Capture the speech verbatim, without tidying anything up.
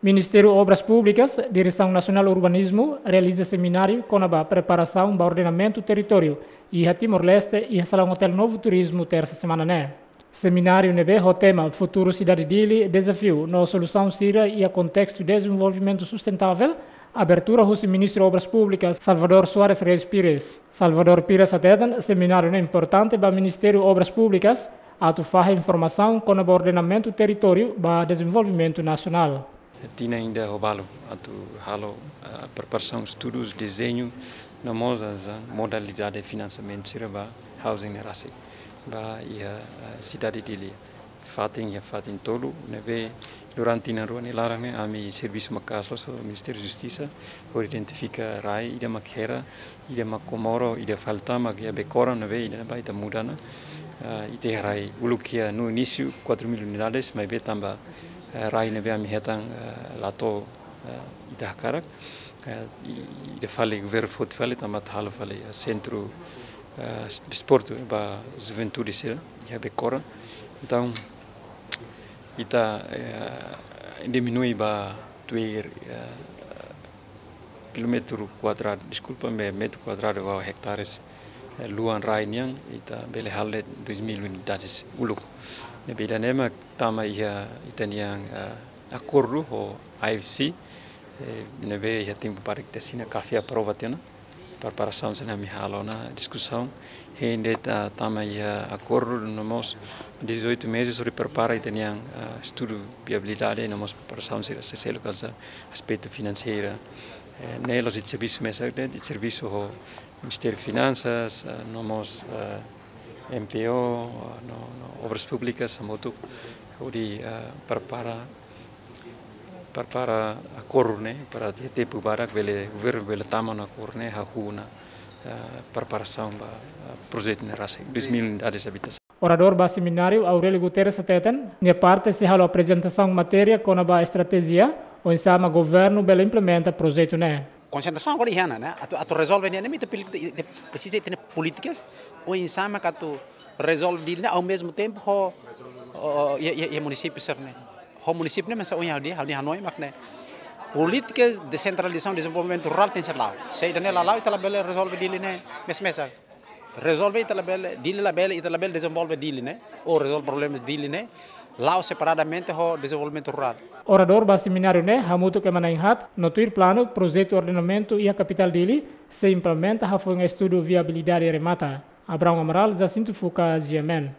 Ministériu Obras Públikas, Diresaun Nasionál Urbanizmu, realiza semináriu kona-ba preparasaun ba ordenamentu territóriu iha Timor-Leste, iha Salaun Hotel Novo Turizmu, tersa semana ne'e. Semináriu ne'ebé ho tema Futuru Sidade Dili, Dezafiu no Solusaun Sira iha Kontestu Dezenvolvimentu Sustentável, abertura husi Ministru Obras Públikas, Salvador Soares Reis Pires. Salvador Pires hateten, semináriu ne'e importante ba Ministériu Obras Públikas, atu fahe informasaun kona-ba ordenamentu territóriu ba dezenvolvimentu nasionál. Tinan ida ho balu atu halo, ah, preparasaun, estudus, dezeñu, no mós as, ah, modalidade finansiamentu sira ba housing ne'e rasik, ba iha, ah, sidade Dili. Fatin iha fatin tolu, ne'ebé durante tinan rua nia laran ne'e, ami servisu maka'as loos ho Ministériu Justisa, hodi identifika rai ida mak hera, ida mak komoro, ida fali tama iha Becora, ne'ebé ida-ne'ebá ita muda ona. Ah, ita iha rai uluk iha no inísiu quatro mil unidades, maibé tanba, eh, rai ne'ebé ami hetan, eh, la to'o, eh, ita hakarak, eh, i-, ida fali governu foti fali tanba atu halo fali, eh, sentru, eh, desportu ba juventude sira iha Becora. Entaun, ita, eh, diminui ba tuir, eh, kilómetru kuadradu, deskulpa, me-, metru kuadradu ou hektares, eh, luan rai nian, ita bele halo de'it dois mil unidades uluk. Ne'ebé ida-ne'e mak tama iha ita-nian, eh, akordu ho I F C, eh, ne'ebé iha tempu badak ita asina, CAFEA aprova tiha ona. Preparasaun sira-ne'e ami halo ona, diskusaun, hein de'it, ah, tama iha akordu, no mós dezoito meses hodi prepara ita-nian, ah, estudu viabilidade, no mós preparasaun sira seluseluk, aspetu finanseiru. Eh, ne'e la'ós ita servisu mesak de'it, ita servisu ho Ministériu Finansas, ah, no mós, ah, M P O, ah, no, no Obras Públikas, hamutuk hodi, ah, prepara, prepara akordu ne'e, para iha tempu badak bele, governu bele tama ona akordu ne'e, hahú ona, ah, preparasaun ba, ah, projetu ne'e rasik, dois mil unidades habitasaun. Oradór ba semináriu, Aurélio Guterres hateten, nia parte sei halo aprezentasaun matéria kona-ba estratéjia oinsá mak governu bele implementa projetu ne'e. Konsentrasaun agora iha ne'e, atu, atu rezolve ne'e, ne'e ita poli-, ita presiza ita-nia polítikas oinsá mak atu rezolve Dili ne'e, ao mesmo tempo ho, ho, iha, iha, iha munisípiu sira-ne'e. Ho munisípiu ne'e, mas ohin ha'u dehan, ha'u dehan hanoin mak ne'e. Polítikas desentralizasaun dezenvolvimentu rurál tenke ser la'o. Se ida-ne'e la la'o, ita labele rezolve Dili ne'e mesamesak. Rezolve ita labele, Dili labele, ita labele dezenvolve Dili ne'e, ou rezolve problemas Dili ne'e, la'o separadamente ho dezenvolvimentu rurál. Oradór ba semináriu ne'e hamutuk ema na'in-haat, no tuir planu, projetu ordenamentu iha kapitál Dili sei implementa hafoin estudu viabilidade remata. Abraão Amaral, Jacinto Fuca, G M N.